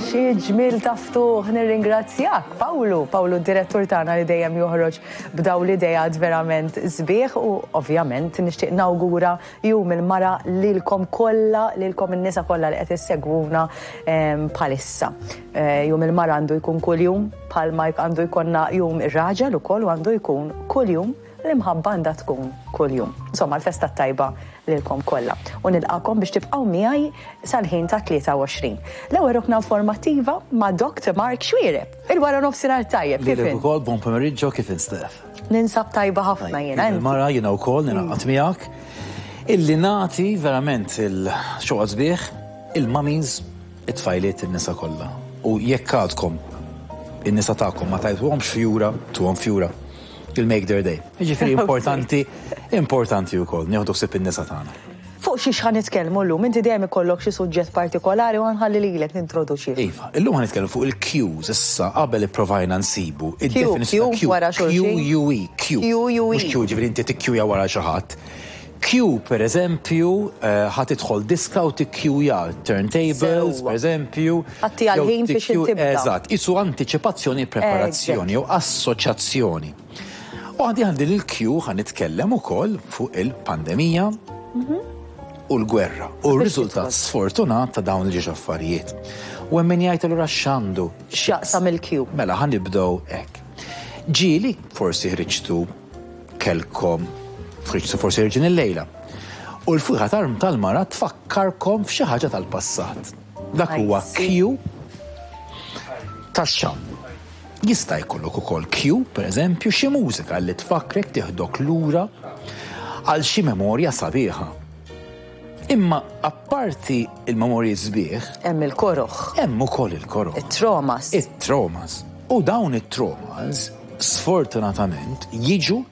Xi ġmiel ta' ftuħ nirringrazzjak, Pawlu, Pawlu d-direttur tagħna li dejjem joħroġ b'daw l-ideat verament sbieħ u ovvjament nixtieq nawgura jum il-mara lilkom kollha, lilkom in-nisa kollha li qed issegwuna ehm, bħalissa. Eh, jum il-mara għandu jkun kuljum bħalma għandu jkollna jum ir-raġel ukoll u għandu jkun kuljum l-imħabba għandha tkun kuljum. Insomma, l-festa tajba lilkom kollha. U nilqakom biex tibqgħu miegħi sal-ħin ta' 23. L-ewwel rokna informattiva ma' Dr. Mark Xuereb. Il-wara nofsinhar tajjeb. Kif ukoll buon pomeriggio kif instef. Ninsab tajba ħafna jiena. Mara jiena wkoll ningħaqad miegħek. Illi nagħti verament il-xoqgħod sbieħ il-mummies it-tfajliet in-nisa kollha. U jekk għadkom in-nisa tagħkom ma tajtuhomx fjura, tuhom fjura. You'll make their day. Jiġifieri importanti, importanti wkoll nieħdu ħsieb in-nisa tagħna. Fuq xiex ħa nitkellmu llum? Inti dejjem ikollok xi suġġett partikolari u ħa nħalli lilek nintroduċih. Iva, illum ħa nitkellmu fuq il-cues, issa qabel ipprovajna nsibu id-definizzjoni ta' wara xulxin. Q-U-E, Q. Q-U-E. Mhux Q ġifieri inti tikkjuja wara xi ħadd. Q per eżempju, ħa tidħol diska u tikkjuja turntables, per eżempju. Għatti għal-ħin biex tibda. Eżatt, isu antiċipazzjoni preparazzjoni jew assoċjazzjoni. U għandi għandi l-Q ħa nitkellem ukoll fuq il-pandemija mhm. u l-gwerra u r-riżultat sfortunat ta' dawn il-ġiex affarijiet. U hemm min jgħid allura x'għandu x'jaqsam il-Q. Mela ħa nibdew hekk. Ġieli forsi ħriġtu kellkom ħriġtu forsi ħirġin illejla. U l-fwieħa tal-mara tfakkarkom f'xi ħaġa tal-passat. Dak huwa Q tax-xamm. Jista' jkollok ukoll Q, pereżempju, xi mużika li tfakkrek tieħdok lura għal xi memorja sabiħa. Imma apparti il-memorji sbieħ. Hemm il-koroħ. Hemm ukoll il-koroħ. It-traumas. It-traumas. U dawn it-traumas sfortunatament jiġu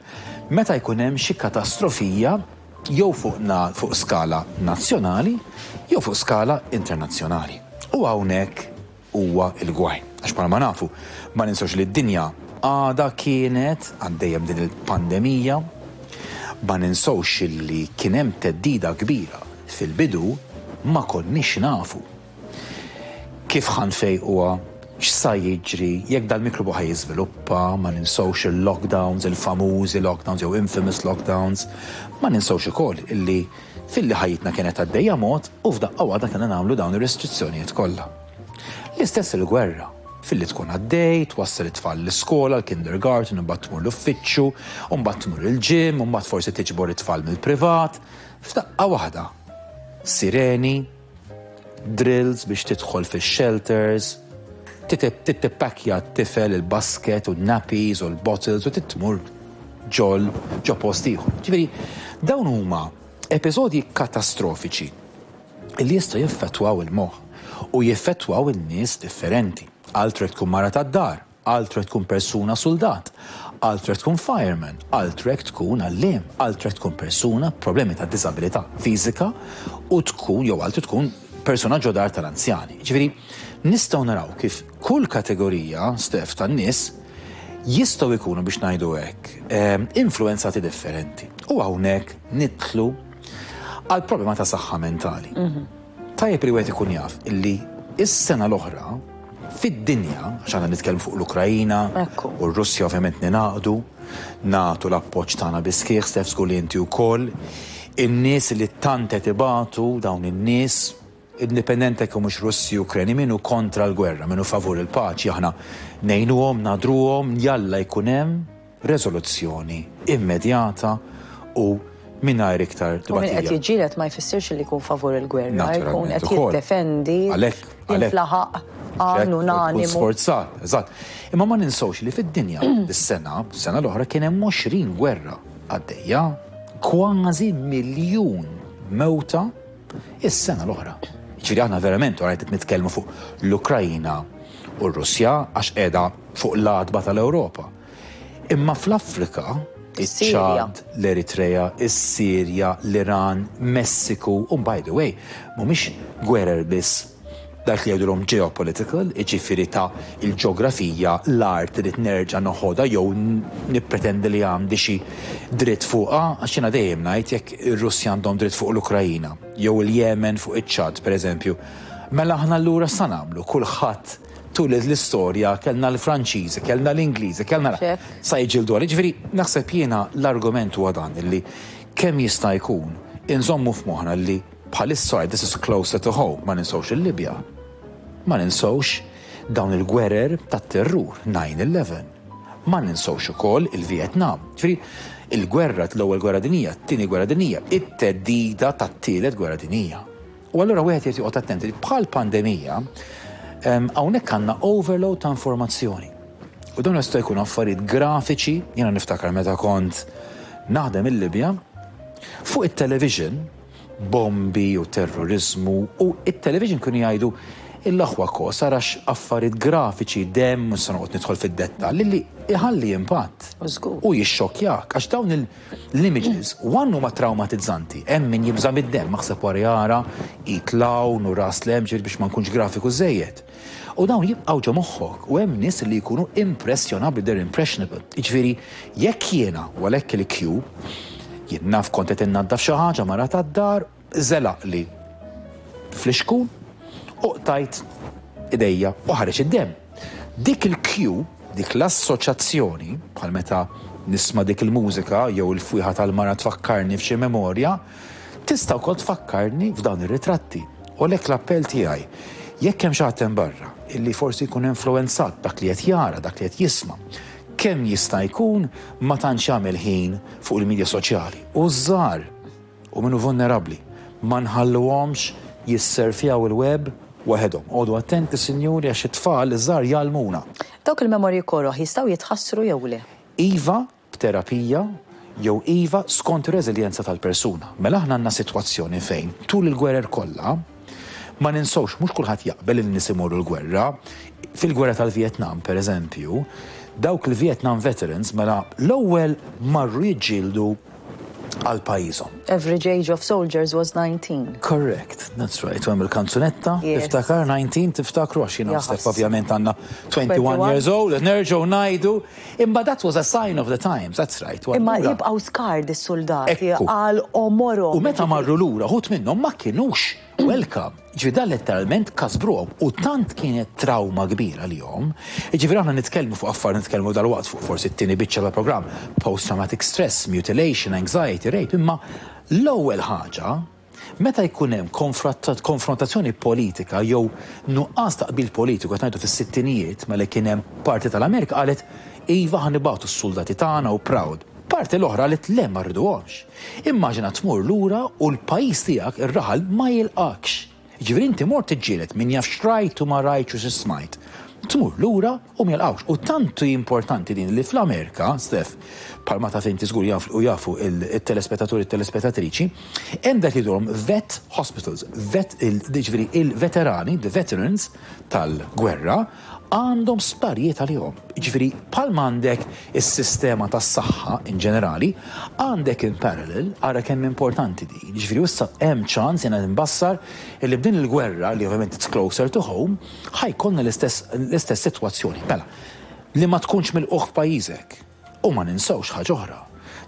meta jkun hemm xi katastrofija jew fuq na, fuq skala nazzjonali jew fuq skala internazzjonali. U hawnhekk huwa l-gwaj. Għax bħalma nafu, ma ninsewx li d-dinja għadha kienet għaddejja b'din il-pandemija, ma ninsewx li kien hemm theddida kbira fil-bidu ma konniex nafu kif ħa nfejquha, x'sa jiġri, jekk dal-mikrobu ħa jiżviluppa, ma ninsewx il-lockdowns, il-famużi lockdowns jew infamous lockdowns, ma ninsewx ukoll illi filli ħajjitna kienet għaddejja mod u f'daqqa waħda kellna nagħmlu dawn ir-restrizzjonijiet kollha. L-istess il-gwerra, filli tkun għaddej, twassal it-tfal l-iskola, l-kindergarten, imbagħad tmur l-uffiċċju, u mbagħad tmur il-gym, u mbagħad forsi tiġbor it-tfal mill-privat, f'daqqa waħda. Sireni, drills biex tidħol fix-shelters, tittippakja t-tifel il-basket u n-nappies u l-bottles u titmur ġol ġo post ieħor. Ġifieri, dawn huma episodji katastrofiċi li jistgħu jeffettwaw il-moħħ u jeffettwaw in-nies differenti. Altru jekk tkun mara tad-dar, altru jekk tkun persuna suldat, altru jekk tkun fireman, altru jekk tkun għalliem, altru jekk tkun persuna b'problemi ta' diżabilità fiżika u tkun jew altru tkun persuna ġo dar tal-anzjani. Ġifieri, nistgħu naraw kif kull kategorija, Steph, tan-nies jistgħu jkunu biex ngħidu hekk, ehm, influenzati differenti. U hawnhekk nidħlu għal problema ta' saħħa mentali. Mhm. Tajjeb li wieħed ikun jaf illi is-sena l-oħra fid-dinja, għax aħna nitkellmu fuq l-Ukrajina u r-Russja ovvjament ninaqdu, nagħtu l-appoġġ tagħna bi sħiħ, Steph żgur li inti wkoll, in-nies li tant qed ibatu dawn in-nies Indipendenti jekk humiex Russi, Ukreni, min hu kontra l-gwerra, min hu favur il-paċi, aħna ngħinuhom, nagħdruhom, jalla jkun hemm reżoluzzjoni immedjata u mingħajr iktar tbatija. U min qed jiġġieled ma jfissirx li jkun favur il-gwerra, jkun qed jiddefendi, jintlaħaq għan unanimu. Sforzat, eżatt. Imma ma ninsewx li fid-dinja dis-sena, sena l-oħra kien hemm 20 gwerra għaddejja, kważi miljun mewta Is-sena l-oħra. Jiġifieri aħna verament orajt qed nitkellmu fuq l-Ukrajna u r-Russja għax qiegħda fuq l-għatba tal-Ewropa. Imma fl-Afrika, iċ-Ċad, l-Eritrea, is-Sirja, l-Iran, Messiku, u by the way, mhumiex gwerer biss dak li jgħidulhom geopolitical, jiġifieri ta' il-ġeografija, l-art irrid nerġa' noħodha jew nippretendi li għandi xi dritt fuqha, għax jiena dejjem ngħid jekk ir-Russja għandhom dritt fuq l-Ukrajina jew il-Jemen fuq iċ-Ċad, pereżempju. Mela aħna allura sa nagħmlu kulħadd tul l-istorja kellna l-Franċiżi, kellna l-Ingliżi, kellna sa jiġġieldu għal. Ġifieri naħseb jiena l-argument huwa dan illi kemm jista' jkun inżommu f'moħħna li bħalissa this is closer to home, ma ninsewx il-Libja. Ma ninsewx dawn il-gwerer tat-terrur 9/11. Ma ninsewx ukoll il-Vietnam. Ġifieri il-gwerra l-ewwel gwerra dinjija, t-tieni gwerra dinjija, it-theddida tat-tielet gwerra dinjija. U allura wieħed jrid joqgħod attenti li bħal pandemija hawnhekk għandna overload ta' informazzjoni. U dawn jistgħu jkunu affarijiet grafiċi, jiena niftakar meta kont naħdem il-Libja, fuq it-television, bombi u terrorizmu, u it-television kienu jgħidu l-aħwa kos arax affarijiet grafiċi, demm, mhux se noqgħod nidħol fid-dettall, li iħalli impatt. U jixxokkjak, għax dawn l-images, one huma traumatizzanti, hemm min jibża' mid-demm, aħseb wara jara id 'l hawn u ras 'l hemm, ġifieri biex ma nkunx grafiku żejjed. U dawn jibqgħu ġo moħħok u hemm nies li jkunu impressjonabbli, they're impressionable. Jiġifieri jekk jiena, u għalhekk il-cue, jien naf kont qed innaddaf xi ħaġa mara tad-dar, żelaqli flixkun u qtajt idejja u ħareġ id-demm. Dik il-cue, dik l-assoċjazzjoni, bħal meta nisma' dik il-mużika jew il-fwieħa tal-mara tfakkarni f'xi memorja, tista' wkoll tfakkarni f'dawn ir-ritratti. U għalhekk l-appell tiegħi, jekk hemm xi ħadd hemm barra illi forsi jkun influwenzat b'dak li qed jara, dak li qed jisma', kemm jista' jkun ma tantx jagħmel ħin fuq il-midja soċjali. U ż-żgħar u min hu vulnerabbli, ma nħalluhomx jisserfjaw il-web waħedhom. Oqogħdu attenti sinjuri għax it-tfal iż-żgħar jgħallmuna. Dawk il-memorji koroh jistgħu jitħassru jew le? Iva, b'terapija jew iva skont ir-reżiljenza tal-persuna. Mela aħna għandna sitwazzjoni fejn tul il-gwerer kollha, ma ninsewx mhux kulħadd jaqbel li n-nies imorru l-gwerra. Fil-gwerra tal-Vietnam, per eżempju, dawk il-Vietnam veterans mela l-ewwel marru jiġġieldu għal pajjiżhom. Average age of soldiers was 19. Correct, that's right. U hemm il-kanzunetta, tiftakar 19, tiftakru għax jiena step ovvjament għandna 21 years old, nerġgħu ngħidu, imma that was a sign of the times, that's right. Imma jibqgħu scarred is-suldati għal għomorhom. U meta marru lura, ħut minnhom ma kinux welcome. Ġifieri dan letteralment kasbruhom u tant kienet trawma kbira għalihom. Jiġifieri aħna nitkellmu fuq affarijiet nitkellmu dalwaqt fuq forsi t-tieni biċċa tal-programm, post-traumatic stress, mutilation, anxiety, rape, imma l-ewwel ħaġa meta jkun hemm konfrontazzjoni politika jew nuqqas ta' qbil politiku qed ngħidu fis-sittinijiet mela kien hemm parti tal-Amerika qalet iva ħa nibagħtu s-suldati tagħna u proud. Parti l-oħra qalet le ma rriduhomx. Immaġina tmur lura u l-pajjiż tiegħek, ir-raħal, ma jilqgħekx. Jiġifieri inti mort tiġġieled min jaf x'rajt u ma rajtx u xi smajt. Tmur lura u ma jilqgħukx. U tant hi importanti din li fl-Amerika, Steph, bħalma taf inti żgur jaf u jafu t-telespettaturi u t-telespettatriċi, hemm dak li jgħidulhom vet hospitals, vet jiġifieri il-veterani, the veterans tal-gwerra, għandhom sptarijiet għalihom. Jiġifieri bħalma għandek is-sistema tas-saħħa in ġenerali, għandek in parallel, ara kemm importanti din. Jiġifieri issa hemm ċans jiena nbassar illi b'din il-gwerra li ovvjament it's closer to home, ħa jkollna l-istess l-istess sitwazzjoni. Mela, li ma tkunx milqugħ f'pajjiżek. U ma ninsewx ħaġa oħra.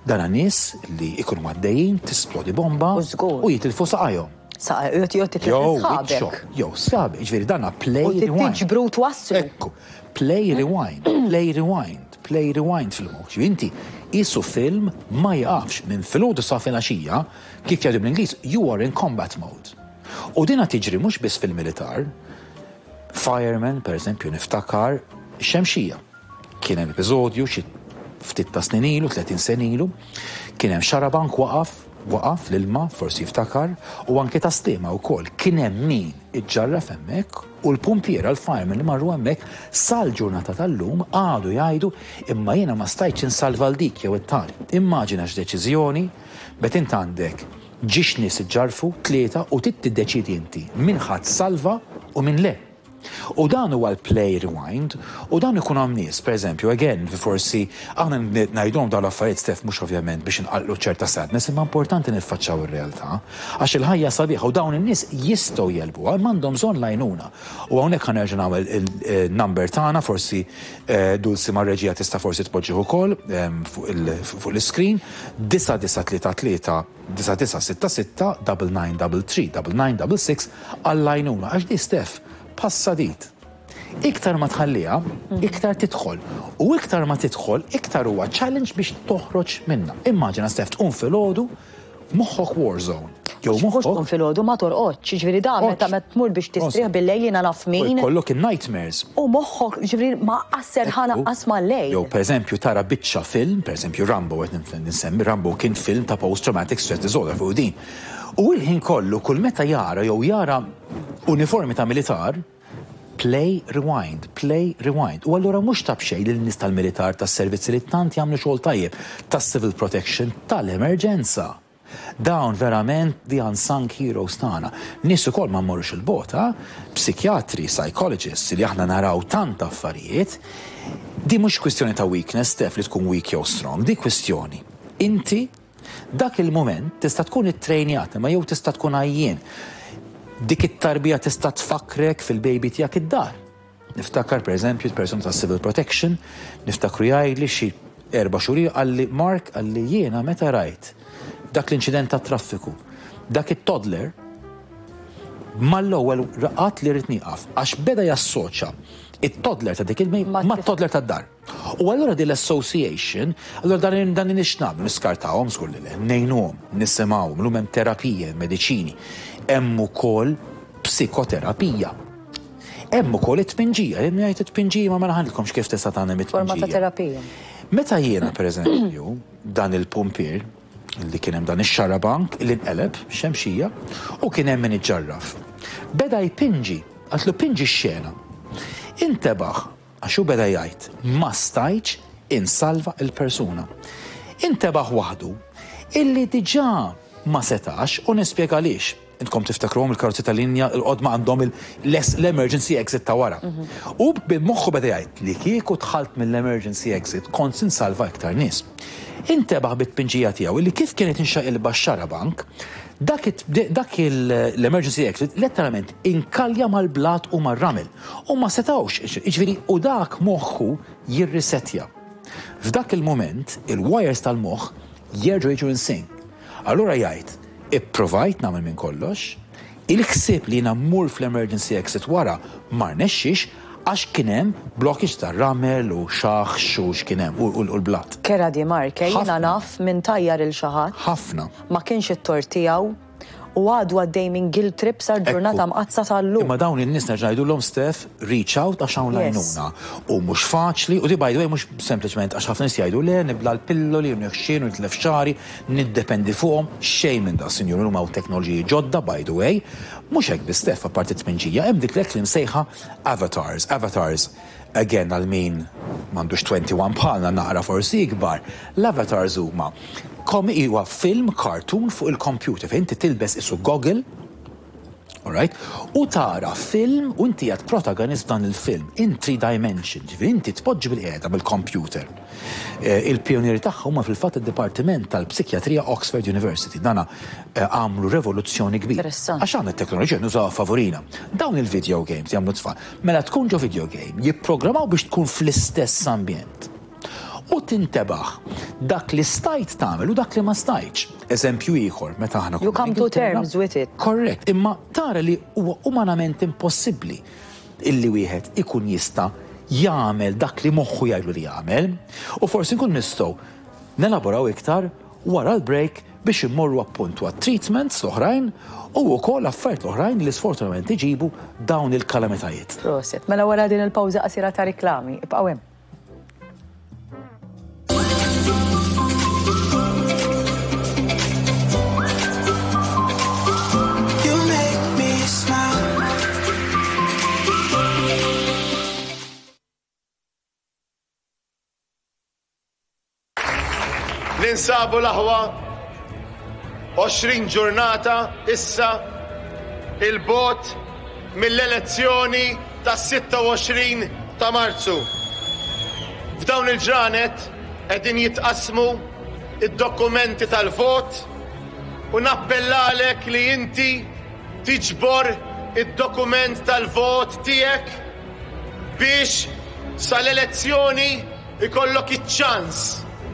Dana nies li jkunu għaddejjin, tisplodi bomba u jitilfu saqajhom. Saqajhom, jew titlef sħabek. Jew sħabek, jiġifieri dana play rewind. U tiġbru u twasslu. Ekku, play rewind, play rewind, play rewind fil-moħħ. Jiġifieri inti qisu film ma jiqafx minn filgħodu sa filgħaxija, kif jgħidu bl-Ingliż, you are in combat mode. U dina tiġri mhux biss fil-militar, fireman, per eżempju, niftakar xemxija. Kien hemm episodju xi ftit ta' snin ilu, 30 sena ilu, kien hemm xarabank waqaf, waqaf l-ilma, forsi jiftakar, u anke ta' Sliema wkoll. Kien hemm min iġġarraf hemmhekk u l-pumpiera, l-firemen li marru hemmhekk sal-ġurnata tal-lum għadu jgħidu imma jiena ma stajtx insalva 'l dik jew it-tali. Immaġina x'deċiżjoni, bet int għandek ġiex nies iġġarrfu, tlieta, u trid tiddeċiedi inti min ħa tsalva u min le. U dan huwa l-play rewind u dan ikun hawn nies, pereżempju, again, forsi aħna ngħidulhom dawn l-affarijiet Steph mhux ovvjament biex inqalqlu ċerta sadness imma importanti niffaċċaw ir-realtà għax il-ħajja sabiħa u dawn in-nies jistgħu jegħlbuha imma għandhom bżonn l-għajnuna. U hawnhekk ħa nerġa' nagħmel il-number tagħna forsi Dulcie mar-reġija tista' forsi tpoġġih ukoll fuq l-iscreen 9933 9966 9933 9966 għall-għajnuna għax di Steph bħas-sadid. Iktar ma tħalliha, iktar tidħol. U iktar ma tidħol, iktar huwa challenge biex toħroġ minnha. Immaġina Steph tqum filgħodu moħħok war zone. Jew moħħok. Mhux tqum filgħodu ma torqodx, jiġifieri da meta tmur biex tistrieħ bil-lejl jiena naf min. U jkollok in-nightmares. U moħħok jiġifieri ma qas serħan anqas mal-lejl. Jew pereżempju tara biċċa film, pereżempju Rambo qed insemmi, Rambo kien film ta' post traumatic stress disorder fuq din. U l-ħin kollu kull meta jara jew jara uniformi ta' militar, play rewind, play rewind. U allura mhux ta' b'xejn li n-nies tal-militar tas-servizzi li tant jagħmlu xogħol tajjeb, tas-civil protection, tal-emerġenza. Dawn verament the unsung heroes tagħna. Nies ukoll ma mmorrux 'il bogħod, ha? Psikjatri, psychologists li aħna naraw tant affarijiet. Di mhux kwistjoni ta' weakness, Steph, li tkun weak jew strong, di kwistjoni inti dak il-mument tista' tkun ittrejnjat imma jew tista' tkun għajjien. Dik it-tarbija tista' tfakkrek fil-baby tiegħek id-dar. Niftakar pereżempju persuna tas-Civil Protection, niftakru jgħidli xi erba' xhur ilu qalli Mark qalli jiena meta rajt dak l-inċident tat-traffiku, dak it-toddler mal-ewwel għadt li rrid nieqaf għax beda jassoċja it-toddler ta' dik il mat-toddler tad-dar. U allura din l-association, allura dan dan nixnam, niskartawhom żgur li le, ngħinuhom, nisimgħuhom, illum hemm terapije, mediċini, hemm ukoll psikoterapija. Hemm ukoll it-tpinġija, hemm jgħid it-tpinġija ma mela ħanilkomx kif tista' tagħmel it-tpinġija. Forma ta' terapija. Meta jiena pereżempju dan il-pumpier li kien hemm dan ix-xarabank li nqeleb xemxija u kien hemm min iġġarraf. Beda jpinġi, għatlu pinġi x-xena. Intebaħ Għax hu beda jgħid, Ma stajtx insalva l-persuna. Intebaħ waħdu illi diġà ma setax u nispjega għaliex. Intkom tiftakruhom il-karozzi tal-linja l-qodma għandhom l-emergency exit ta' wara. U b'moħħu beda jgħid li kieku dħalt mill-emergency exit kont se nsalva iktar nies. Intebaħ bit-tpinġija tiegħu illi kif kienet inxaqilba x-xarabank, dak l-emergency exit letteralment inkalja mal-blat u mar-ramel. U ma setgħux, jiġifieri, u dak moħħu jirrisettja. F'dak il-mument, il-wires tal-moħħ jerġgħu jiġu in sync. Allura jgħid, ipprovajt nagħmel minn kollox, il-ħsieb li jiena mmur fl-emergency exit wara ma rnexxiex għax kien hemm blockage ta' ramel u xaħx u x'kien hemm u l-blat. Kerha di Mark, eh, jiena naf min tajjar 'il xi ħadd. Ħafna. Ma kienx it-tort tiegħu. U għadu għaddej minn guilt trip sal-ġurnata mqaddsa tal-lum. Imma dawn in-nies nerġa' ngħidulhom Steph, reach out għax hawn l-għajnuna. U mhux faċli, u di by the way mhux sempliċement għax ħafna nies jgħidu le nibla' l-pilloli u nieħxien u nitlef xagħri, niddependi fuqhom, xejn minn dan sinjuri illum hawn teknoloġiji ġodda by the way. Mhux hekk biss Steph, apparti t-tminġija hemm dik l-hekk li msejħa avatars. Avatars Again għal min m'għandux 21 bħalna naqra forsi ikbar, l-avatars huma huwa film cartoon fuq il-computer fejn inti tilbes isu goggle, alright, u tara film u inti qiegħed protagonist f'dan il-film in 3 dimension, ġifieri inti tpoġġi bilqiegħda bil-computer. Il-pijunieri tagħha huma fil-fatt id-Dipartiment tal-Psikjatrija Oxford University. Dana għamlu revoluzzjoni kbira. Għax aħna t-teknoloġija nużawha favorina. Dawn il-video games jagħmlu tfal. Mela tkun ġo video game, jipprogrammaw biex tkun fl-istess ambjent. U tintebaħ dak li stajt tagħmel u dak li ma stajtx. Eżempju ieħor, meta aħna You come to terms with it. Korrett, imma tara li huwa umanament impossibbli illi wieħed ikun jista' jagħmel dak li moħħu jgħidlu li jagħmel. U forsi nkun nistgħu nelaboraw iktar wara l-break biex immorru appuntu għat-treatments l-oħrajn u wkoll affarijiet oħrajn li sfortunatament iġibu dawn il-kalamitajiet. Proset. Mela wara din il-pawża qasira ta' riklami, ibqgħu hemm. You make me smile. Ninsabu l-aħwa 20 ġurnata issa 'il bogħod mill-elezzjoni. tas-26 ta' Marzu. F'dawn il-ġranet qegħdin jitqassmu d-dokumenti tal-vot u nappellalek li inti tiġbor id-dokument tal-vot tiegħek biex sal-elezzjoni jkollok iċ-ċans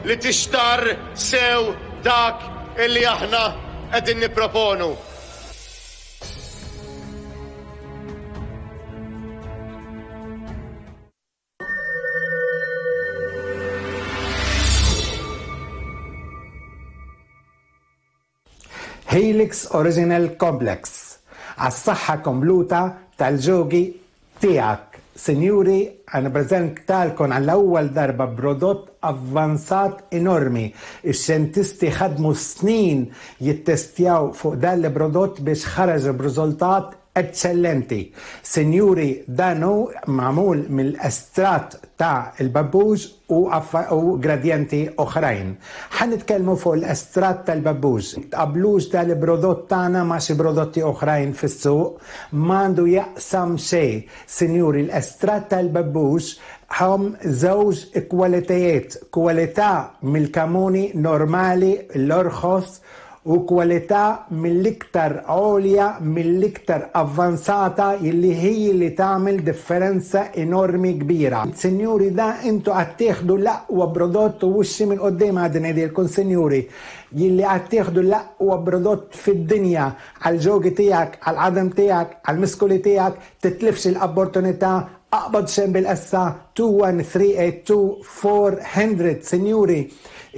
li tixtarr sew dak illi aħna qegħdin nipproponu. Helix Original Complex għas-saħħa kompluta tal-ġogi tiegħek. Sinjuri, nippreżentalkom għall-ewwel darba prodott avvanzat enormi. Ix-xjentisti ħadmu snin jittestjaw fuq dan il-prodott biex ħareġ b'riżultat eċċellenti. Sinjuri, dan hu magħmul mill-estratt ta' l-babbuġ u u gradjenti oħrajn. Ħa nitkellmu fuq l-estratt tal-babbuġ. Tqabblux dan il-prodott tagħna ma' xi prodotti oħrajn fis-suq, m'għandu jaqsam xejn. Sinjuri, l-estratt tal-babbuġ hom żewġ kwalitajiet, kwalità mill-kamuni normali l-orħos u kwalità mill-iktar għolja, mill-iktar avvanzata illi hi li tagħmel differenza enormi kbira. Sinjuri da intu qed tieħdu l-aqwa prodott u wixxi minn quddiem għad ngħidilkom sinjuri illi qed tieħdu l-aqwa prodott fid-dinja għall-ġogi tiegħek, għall-għadam tiegħek, għall-miskuli tiegħek, titlifx l-opportunità, aqbad xejn bil-essa 21382 400 sinjuri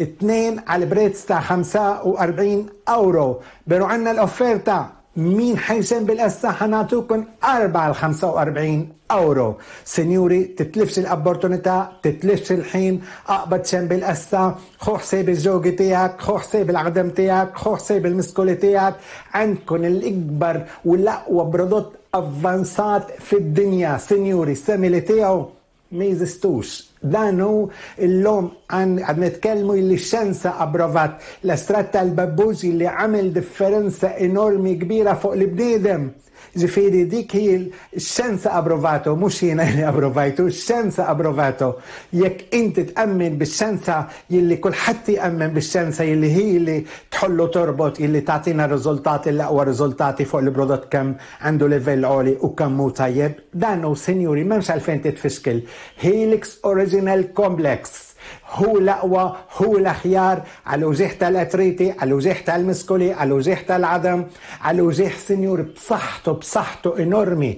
it-tnejn għal prezz ta' 45 euro. Pero għandna l-offerta min ħa jxen bil-essa ħa nagħtukom 4 għal 45 euro. Sinjuri, titlifx l-opportunità, titlifx il-ħin, aqbad xen bil-essa, ħu ħsieb il-ġogi tiegħek, ħu ħsieb il-għadam tiegħek, ħu ħsieb il-miskoli tiegħek, għandkun l-ikbar u l-aqwa prodott avvanzat fid-dinja, sinjuri, simili tiegħu ma jeżistux. Dan hu illum għad nitkellmu illi x-xjenza approvat l-estratt tal-babbuġ illi għamel differenza enormi kbira fuq l-bniedem. Ġifieri dik hi x-xjenza approvatu, mhux jiena li approvajtu, x-xjenza approvatu. Jekk inti tqemmen bix-xjenza jilli kulħadd jemmen bix-xjenza jilli hi li tħollu torbot illi tagħtina riżultati l-aqwa riżultati fuq il-prodott kemm għandu livell għoli u kemm hu tajjeb. Dan hu sinjuri m'hemmx għalfejn titfixkil. Helix Original Complex hu l-aqwa, hu l-aħjar għal uġigħ tal-artriti, għal uġigħ tal-miskoli, għal uġigħ tal-għadam, għal uġigħ sinjuri b'saħħtu, b'saħħtu enormi.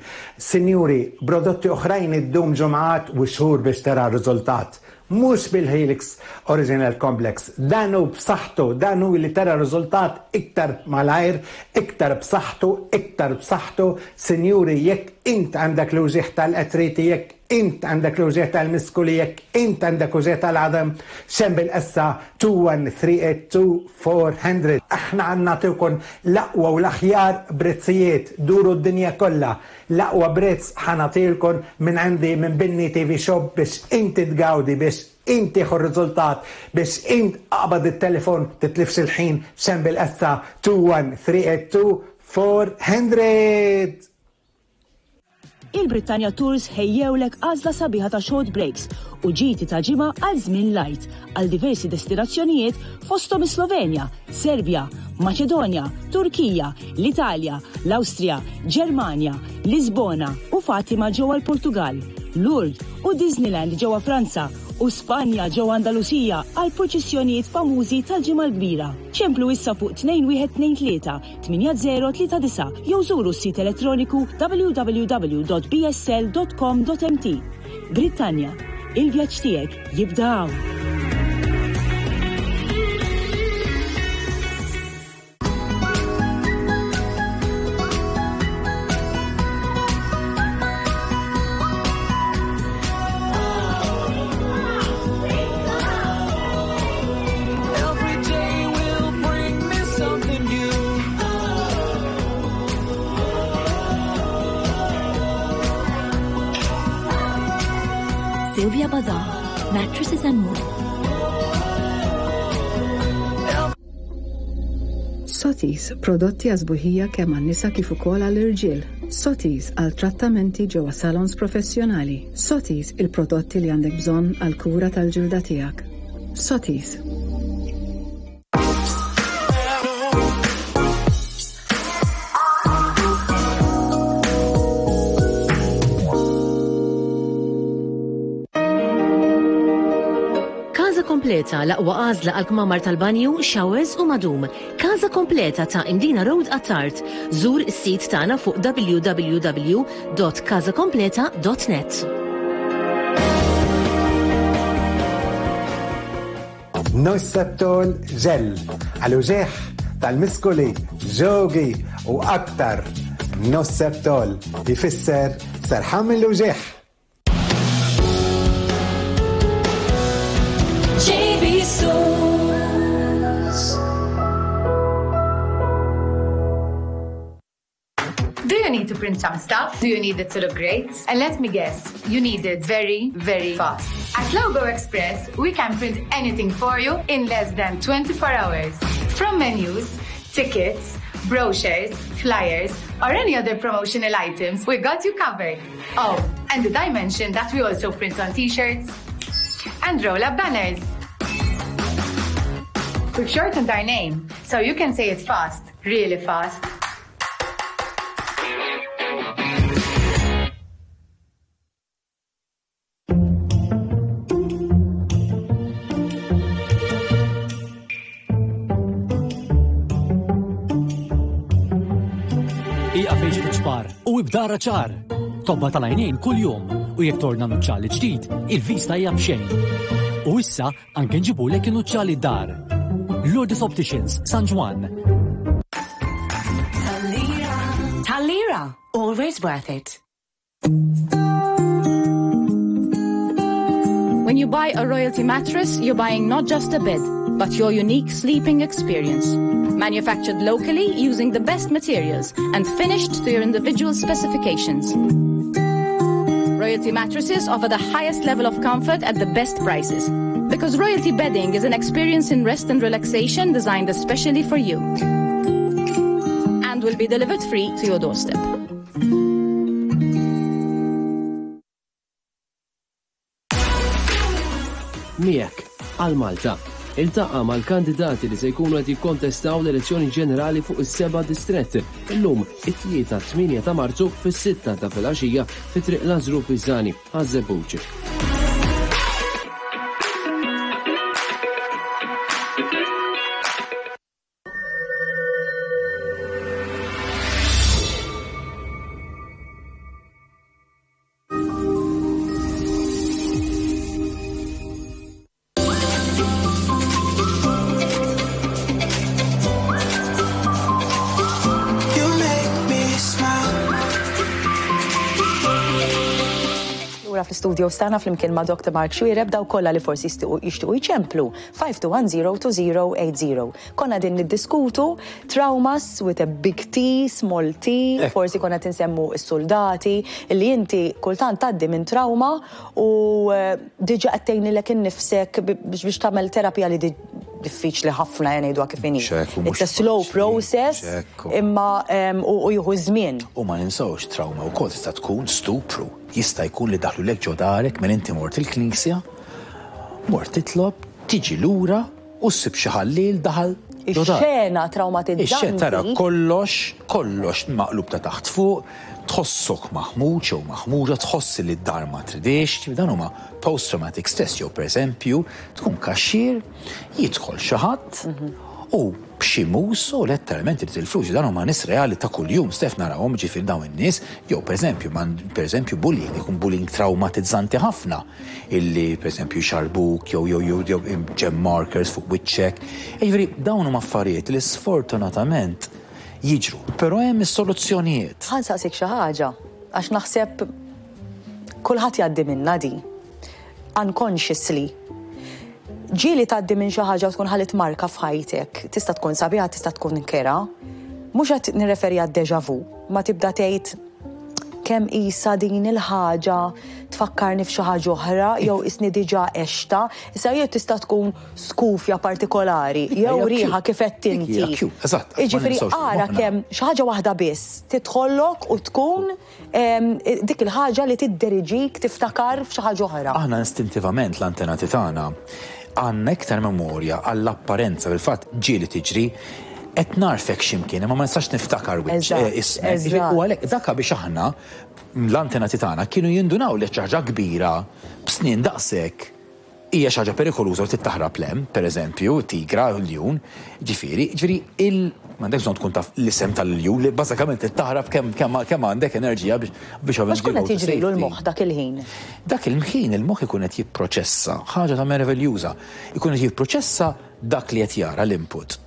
Sinjuri, prodotti oħrajn iddum ġimgħat u xhur biex tara riżultat. Mhux bil-Helix Original Complex. Dan hu b'saħħtu, dan hu li tara riżultat iktar malajr, iktar b'saħħtu, iktar b'saħħtu. Sinjuri, jekk int għandek l-uġigħ tal-artriti, jekk int għandek l-uġigħ tal-miskuli, jekk int għandek uġigħ tal-għadam, xen bil-essa 21382 400. Aħna għandna nagħtukom l-aqwa u l-aħjar prezzijiet, duru d-dinja kollha. L-aqwa prezz ħa nagħtilkom minn għandi minn Binni TV Shop biex inti tgawdi, biex int tieħu r-riżultat, biex int aqbad it-telefon titlifx il-ħin xen bil-essa 21382 400. Il-Brittania Tours ħejjewlek għażla sabiħa ta' short breaks u ġiti ta' ġimgħa għal żmien light għal diversi destinazzjonijiet fosthom is-Slovenja, Serbja, Maċedonja, Turkija, l-Italja, l-Awstrija, Ġermanja, Lisbona u Fatima ġewwa l-Portugal, Lourdes u Disneyland ġewwa Franza u Spanja ġewwa Andalusija għal purċissjonijiet famużi tal-Ġimgħa l-Kbira. Ċemplu issa fuq 2123 8039 jew żuru s-sit elettroniku www.bsl.com.mt. Brittanja, il-vjaġġ tiegħek jibda hawn. Every day will bring me something new. Sylvia Bazaar, mattresses and more. Sotis, prodotti għażbuħija kemm għan-nisa kif ukoll għall-irġiel. Sotis għal trattamenti ġewwa salons professjonali. Sotis il-prodotti li għandek bżonn għall-kura tal-ġilda tiegħek. Sotis. Casa Completa l-aqwa għażla għal kmamar tal-banju, showers u madum. Casa Completa ta' Imdina Road Attard. Żur is-sit tagħna fuq www.casacompleta.net. Nosseptol ġel għal uġigħ tal-miskoli, ġogi u aktar. Nosseptol jfisser serħan mill-uġigħ. JB Stores. Do you need to print some stuff? Do you need it to look great? And let me guess, you need it very, very fast. At Logo Express, we can print anything for you in less than 24 hours. From menus, tickets, brochures, flyers, or any other promotional items, we got you covered. Oh, and did I mention that we also print on t-shirts and roll up banners? We've shortened our name, so you can say it fast, really fast. Ieqaf għix fiċ-ċpar u ibda ara ċar. Tobba tal-għajnejn kuljum u jekk torna nuċċali ġdid, il-vista hija b'xejn. U issa anke nġibulek in-nuċċali d-dar. Lourdes Opticians, San Ġwann. Tal-lira, always worth it. When you buy a royalty mattress, you're buying not just a bed, but your unique sleeping experience. Manufactured locally using the best materials and finished to your individual specifications. Royalty mattresses offer the highest level of comfort at the best prices. Because royalty bedding is an experience in rest and relaxation designed especially for you. And will be delivered free to your doorstep. Miegħek għal Malta. Iltaqa' mal-kandidati li se jkunu qed jikkontestaw l-elezzjoni ġenerali fuq is-seba' distrett illum it-Tlieta 8 ta' Marzu fis-sitta ta' filgħaxija fi Triq Lażru Pisani, Ħaż-Żebbuġ. You make me smile. Lura fl-istudio stana flimkien ma' Dr. Mark Xuereb daw kollha li forsi jixtiequ jċemplu 52102080. Konna din niddiskutu traumas with a big T, small t, forsi konna tinsemmu s-soldati, li inti kultant tgħaddi minn trauma u eh, diġa qed tgħinilek innifsek biex tagħmel terapija li diffiċli ħafna jgħidu kif inhi. It's a slow process imma u jieħu żmien. U ma ninsawx trauma wkoll tista' tkun stupru. Jista' jkun li daħlulek ġo darek minn inti mort il-knisja, mort titlob, tiġi lura u ssib xi ħalliel daħal ġo darek. Ix-xena traumatizzanti. Ix-xena tara kollox, kollox maqlub ta' taħt fuq, tħossok maħmuġ jew maħmuġa, tħoss li d-dar ma tridix, dan huma post-traumatic stress jew pereżempju tkun kaxxier, jidħol xi ħadd u b'xi mus u letteralment irid il-flus, dan huma nies reali ta' kuljum, Stef narahom ġifieri dawn in-nies, jew pereżempju, pereżempju bullying, ikun bullying traumatizzanti ħafna, illi pereżempju jxarbuk jew jew jew jew gem markers fuq wiċċek. Jiġifieri dawn huma affarijiet li sfortunatament jiġru, però hemm is-soluzzjonijiet. Ħa nsaqsik xi ħaġa, għax naħseb kulħadd jgħaddi minnha di. Unconsciously. Ġieli tgħaddi minn xi ħaġa u tkun ħalliet marka f'ħajtek, tista' tkun sabiħa, tista' tkun kerha. Mhux qed nirreferi għad-deja vu, ma tibda tgħid. kemm qisha din il-ħaġa tfakkarni f'xi ħaġa oħra jew qisni diġà għextha. Issa jew tista' tkun skufja partikolari jew riħa kif għedt inti. Jiġifieri ara kemm xi ħaġa waħda biss tidħollok u tkun dik il-ħaġa li tidderiġik tiftakar f'xi ħaġa oħra. Aħna istintivament l-antenati tagħna għandna iktar memorja għall-apparenza, fil-fatt ġieli tiġri qed nagħrfek xi mkien imma ma nistax niftakar wiċċ ismek. U għalhekk dak biex aħna l-antenati tagħna kienu jindunaw li xi ħaġa kbira b'snien daqshekk hija xi ħaġa perikoluża u trid taħrab 'l hemm, pereżempju, tigra, ljun, ġifieri, ġifieri il m'għandekx bżonn tkun taf l-isem tal-ljun li bażikament trid taħrab kemm kemm kemm għandek enerġija biex biex ovvjament. X'kun qed jiġrilu l-moħħ dak il-ħin? Dak il-ħin il-moħħ ikun qed jipproċessa ħaġa ta' meraviljuża. Ikun qed jipproċessa dak li qed jara l-input.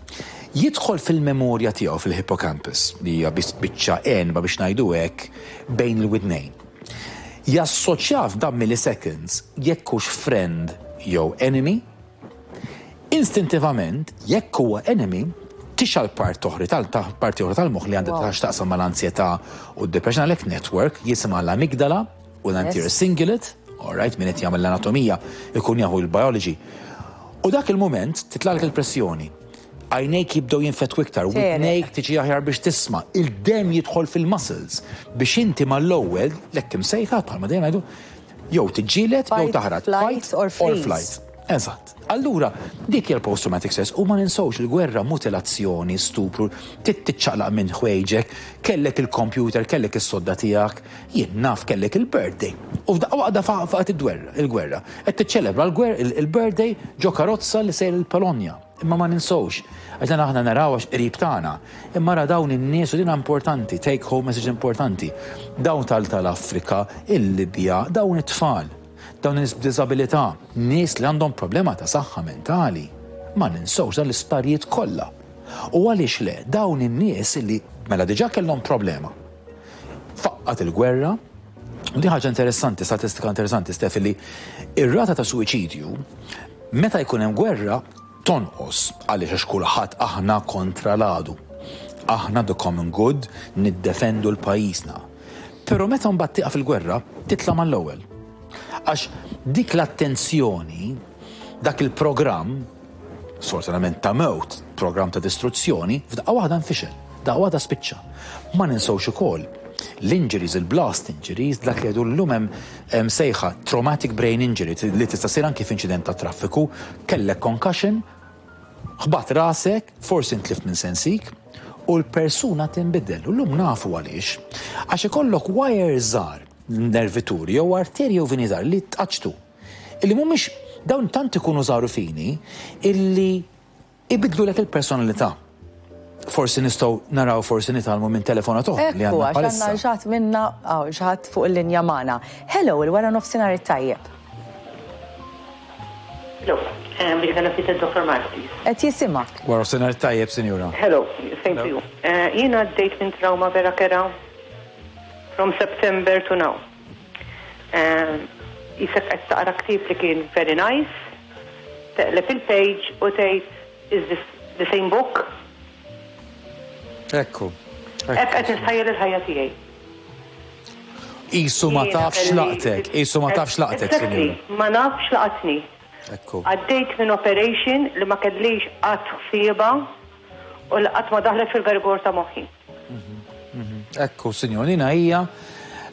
Jidħol fil-memorja tiegħu fil-hippocampus, li hija biċċa għenba biex ngħidu hekk bejn il-widnejn. Jassoċjah f'dan milliseconds jekk hux friend jew enemy. Instintivament, jekk huwa enemy, tixgħal part oħri tal parti oħra tal-moħħ li għandha x'taqsam mal-anzjetà u d-depression għalhekk network jisimha l-amygdala u l-anterior cingulate, all right, min qed jagħmel l-anatomija jkun jafu l-biology. U dak il-mument titlagħlek il-pressjoni. Għajnejk jibdew jinfetħu iktar, widnejk tiġi aħjar biex tisma', il-demm jidħol fil-muscles biex inti mal-ewwel, l-hekk imsejħa bħalma dejjem ngħidu, jew tiġġieled jew taħrab. Fight or flight. Eżatt. Allura, dik hija l-post-traumatic stress u ma ninsewx il-gwerra, mutilazzjoni, stupru, tiċċaqlaq minn ħwejġek, kellek il-computer, kellek is-sodda tiegħek, jien naf kellek il-birthday. U f'daqqa waħda faqgħet il-gwerra. Qed tiċċelebra l-birthday ġo karozza li sejr il-Polonja. Imma ma ninsewx, għax dan aħna naraw għax qrib tagħna. Imma ra dawn in-nies u din importanti, take home message importanti. Dawn tal tal-Afrika, il-Libja, dawn it-tfal, dawn in-nies b'diżabilità, nies li għandhom problema ta' saħħa mentali. Ma ninsewx dan l-isptarijiet kollha. U għaliex le, dawn in-nies li mela diġà kellhom problema. Faqqat il-gwerra, u di ħaġa interessanti, statistika interessanti, Stef, li ir-rata ta' suwiċidju meta jkun hemm gwerra tonqos għaliex għax kulħadd aħna kontra l-għadu. Aħna the common good niddefendu l-pajjiżna. Però meta mbagħad tieqaf il-gwerra, titla' mal-ewwel. Għax dik l-attenzjoni, dak il-programm, sfortunatament ta' mewt, programm ta' distruzzjoni, f'daqqa waħda nfixel, daqqa waħda spiċċa. Ma ninsewx ukoll l-injuries, il-blast injuries, dak li jgħidu llum hemm sejħa traumatic brain injury li tista' ssir anki f'inċident ta' traffiku, kellek concussion, ħbat rasek, forsi ntlift minn sensik, u l-persuna tinbidel. U llum nafu għaliex. Għax ikollok wires żgħar, nervituri jew arterji jew vini żgħar li tqaċċtu. Illi mhumiex dawn tant ikunu żgħar u fini illi ibiddlulek il-personalità. Forsi nistgħu naraw forsi nitgħallmu minn telefonat oħra li Ekku, għandna għax għandna bħalissa. xi ħadd minna, hawn xi ħadd fuq il-linja magħna. Hello, il-wara nofsinhar it-tajjeb. Hello, biex għana fit Dr. Mark, please. Qed jisimgħek. Wara nofsinhar it-tajjeb, sinjura. Hello, same to you. Jiena għaddejt minn trauma vera kera from September to now. Qisek qed taqra ktieb li kien very nice, teqleb il-page u tgħid is this the same book? Ekku. Hekk qed nistħajjel il-ħajja tiegħi. Qisu ma tafx laqtek, qisu ma tafx laqtek, sinjura. Ma nafx laqatni. Ekku. Għaddejt minn operation li ma kellix qatt ħsiebha u li qatt ma daħlet fil-garigor ta' moħħi. Ekku, sinjor, dina hija,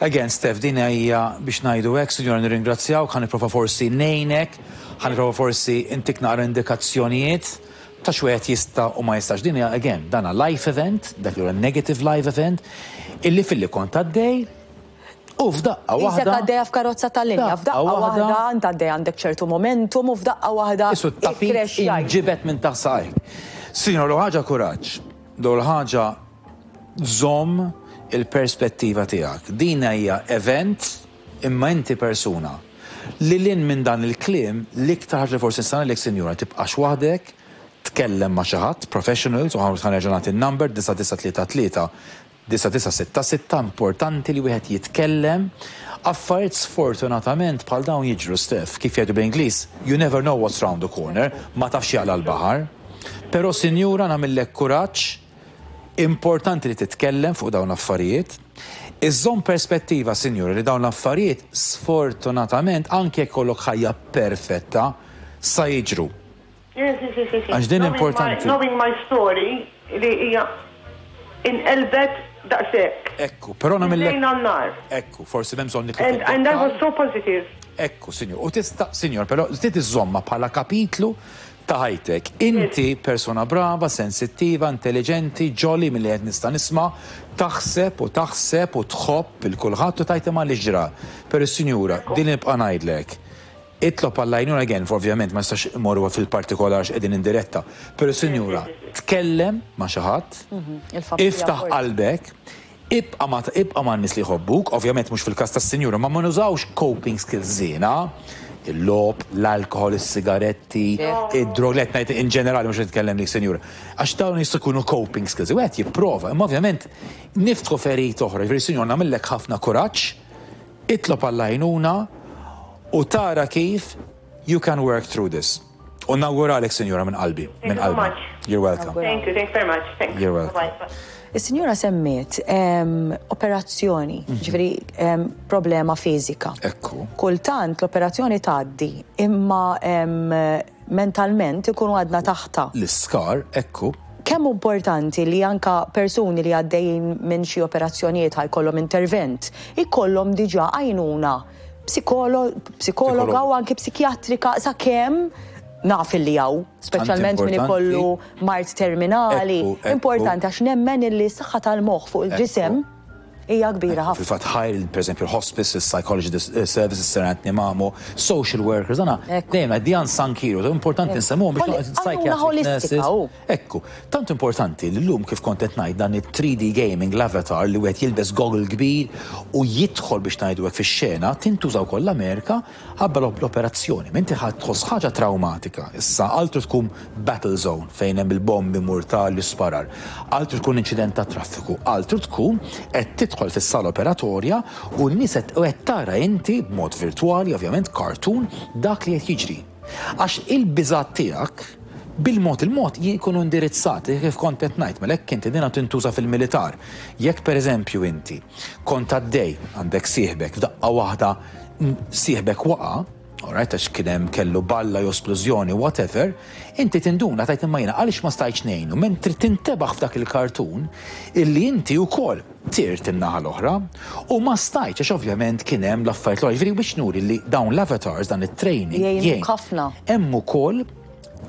again, Steph, dina hija biex ngħidu hekk, sinjora nirringrazzjawk, ħa nipprova forsi ngħinek, ħa nipprova forsi intik naqra indikazzjonijiet ta' x'wieħed jista' u ma jistax. Din hija, again, dana life event, dak li huwa negative life event, illi filli kont għaddej, u f'daqqa Qisek waħda. għaddejja f'karozza tal-linja, f'daqqa waħda int għaddej għandek ċertu momentum u f'daqqa waħda Qisu t-tapit ikkrexxjajt. inġibed minn taħt saqajk. Sinjora, l-ewwel ħaġa kuraġġ. L-ewwel ħaġa żomm il-perspettiva tiegħek. Din hija event imma inti persuna. Lil hinn minn dan il-kliem, l-iktar ħaġa li forsi nista' ngħidlek sinjura tibqax waħdek, tkellem ma' xi ħadd, professionals, u ħa nerġa' nagħti n-number 9933 9966 importanti li wieħed jitkellem. Affarijiet sfortunatament bħal dawn jiġru Steph, kif jgħidu bl-Ingliż, you never know what's round the corner, ma tafx x'jaqla' l-baħar. Però sinjura nagħmillek kuraġġ, importanti li titkellem fuq dawn l-affarijiet. Iżżomm perspettiva, sinjura, li dawn l-affarijiet sfortunatament anke jekk ikollok ħajja perfetta sa jiġru. Yes, yes, yes, yes. Għax din importanti. Knowing my story li hija inqelbet daqshekk. Ekku, però nagħmillek. Lejn għan-nar. Ekku, forsi m'hemm bżonn nidħlu And, and I was so positive. Ekku, sinjur. U tista', sinjur, però trid iżżommha bħala kapitlu ta' ħajtek. Inti persuna brava, sensittiva, intelliġenti, jolly milli qed nista' nisma', taħseb u taħseb u tħobb 'il kulħadd u tgħid imma għaliex ġra. Però sinjura, din nibqa' ngħidlek. Itlob għall-għajnuna again, ovvjament ma nistax immorru fil-partikolar għax qegħdin in diretta, però sinjura, tkellem ma' xi ħadd, iftaħ qalbek, ibqa' ma' ibqa' man-nies li jħobbuk, ovvjament mhux fil-każ tas-sinjura, ma ma nużawx coping skills żiena, il-logħob, l-alkoħol, is-sigaretti, id-drog, le qed ngħid in ġenerali mhux qed nitkellem lik sinjura, għax dawn jistgħu jkunu coping skills, wieħed jipprova, imma ovvjament niftħu ferita oħra, jiġifieri sinjura nagħmillek ħafna kuraġġ, Itlob għall-għajnuna u tara kif you can work through this. U nawguralek sinjura minn qalbi, minn qalbi. You're welcome. Thank you, thank you very much. Thanks. You're welcome. Is-sinjura semmiet operazzjoni, ġifieri problema fiżika. Ekku. Kultant l-operazzjoni tgħaddi, imma mentalment ikunu għadna taħtha. L-iskar, ekku. Kemm hu importanti li anka persuni li għaddejjin minn xi operazzjonijiet ħa jkollhom intervent, ikollhom diġà għajnuna psikologa u anki psikjatrika sakemm naf illi hawn, speċjalment min ikollu mard terminali. Importanti għax nemmen illi s-saħħa tal-moħħ fuq il-ġisem Hija kbira ħafna. Fil-fatt ħajr, pereżempju, l-hospice, il-psychology services, Sir Anthony Mamo, social workers, dana dejjem the unsung heroes, importanti nsemmuhom biex psychiatric nurses. Ekku, tant importanti li llum kif kont qed ngħid dan it-3D gaming, l-avatar li wieħed jilbes goggle kbir u jidħol biex ngħidu hekk fix-xena, tintuża wkoll l-Amerika Qabel l-operazzjoni, m'inti ħa tħoss ħaġa trawmatika. Issa, altru tkun battle zone fejn hemm il-bombi mortali u sparar. Altru tkun inċident tat-traffiku. Altru tkun qed tidħol fis-sala operatorja u n-nies qed u qed tara inti b'mod virtwali, ovvjament cartoon, dak li qed jiġri. Għax il-biżgħat tiegħek bil-mod il-mod jkunu indirizzati, kif kont qed ngħid, mela hekk inti dinha tintuża fil-militar. Jekk pereżempju inti kont għaddej, għandek sieħbek, f'daqqa waħda sieħbek waqa', alright, għax kien hemm kellu balla jew splużjoni, whatever, inti tinduna tgħid imma jiena għaliex ma stajtx ngħinu, mentri tintebaħ f'dak il-kartun illi inti wkoll tirt in-naħa l-oħra u ma stajtx għax ovvjament kien hemm l-affarijiet l-oħra. Jiġifieri biex nuri li dawn l-avatars, dan it-training jgħin ħafna. Hemm ukoll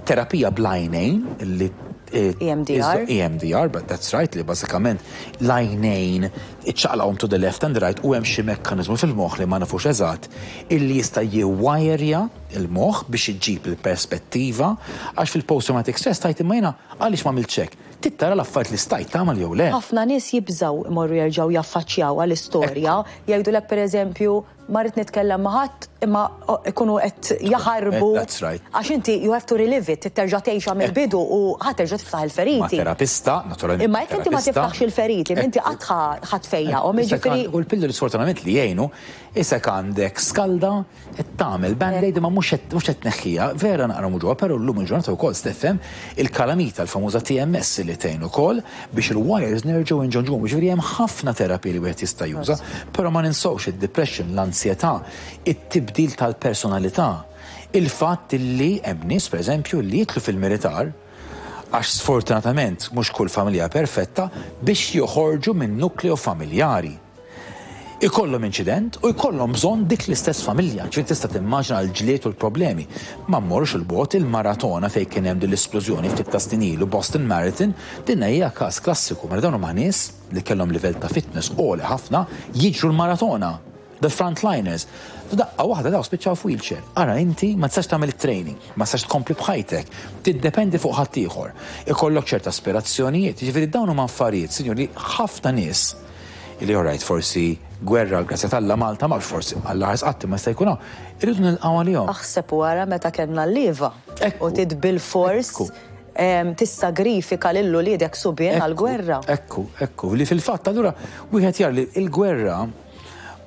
terapija bl-għajnejn li EMDR. EMDR, but that's right, li bażikament l-għajnejn iċċaqlaqhom to the left and right u hemm xi mekkaniżmu fil-moħħ li ma nafux eżatt illi jista' jiwajrja l-moħħ biex iġib il-perspettiva għax fil-post-traumatic stress tgħid imma jiena għaliex m'għamiltx hekk. Trid tara l-affarijiet li stajt tagħmel jew le. Ħafna nies jibżgħu jmorru jerġgħu jaffaċċjawha l-istorja, jgħidulek pereżempju Ma rrid nitkellem ma' ħadd imma ikunu qed jaħarbu. That's right. Għax inti you have to relive it, trid terġa' tgħixha mill-bidu u ħa terġa' tiftaħ il-feriti. Ma' terapista, naturalment. Imma jekk inti ma tiftaħx il-feriti, inti qatt ħa tfejjaqhom, jiġifieri. U l-pilloli sfortunatament li jgħinu, isek għandek skalda, qed tagħmel band-aid imma mhux qed mhux qed tneħħiha, vera naqra muġugħa, però llum il-ġurnata wkoll tifhem il-kalamita l-famuża TMS li tgħin ukoll biex il-wires nerġgħu nġonġuhom. Jiġifieri hemm ħafna terapiji li wieħed jista' juża, però ma ninsewx id-depression, l-ansjetà, it-tibdil tal-personalità, il-fatt li hemm nies pereżempju li jidħlu fil-militar għax sfortunatament mhux kull familja perfetta biex joħorġu min-nukleo familjari. Ikollhom inċident u jkollhom bżonn dik l-istess familja. Ġifieri tista' timmaġina l-ġlied u l-problemi. Ma mmorrux 'il bogħod, il-maratona fejn kien hemm din l-isplużjoni ftit ta' snin ilu, Boston Marathon, din hija każ klassiku. Mela dawn huma nies li kellhom livell ta' fitness għoli ħafna jiġru l-maratona. The frontliners. F'daqqa waħda dawn spiċċaw f'wheelchair. Ara inti ma tistax tagħmel it-training, ma tistax tkompli b'ħajtek, tiddependi fuq ħaddieħor. Ikollok ċerta aspirazzjonijiet, jiġifieri dawn huma affarijiet, sinjuri, ħafna nies Illi all right, forsi gwerra, l-grazzja t'Alla Malta m'hawnx forsi, Alla ħares qatt imma jista' jkun hawn, irridu nilqgħu għalihom. Aħseb u ara meta kellna l-lieva u trid bilfors tissagrifika lil uliedek subien għall-gwerra. Ekku, ekku, li fil-fatt allura wieħed jara li l-gwerra.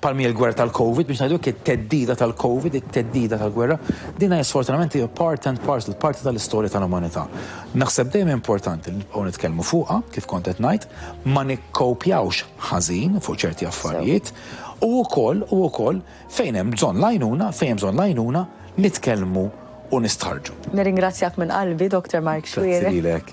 Bħalma hi l-gwerra tal-Covid, biex ngħidu hekk, it-theddida tal-Covid, it-theddida tal-gwerra, din hija sfortunatament hija part and parcel, parti tal-istorja tal-umanità. Naħseb dejjem importanti li nibqgħu nitkellmu fuqha, kif kont qed ngħid, ma nikkowpjawx ħażin fuq ċerti affarijiet u wkoll u wkoll fejn hemm bżonn l-għajnuna, fejn hemm bżonn l-għajnuna, nitkellmu u nistħarrġu. Nirringrazzjak minn qalbi, Dr. Mark Xuereb. Grazzi lilek.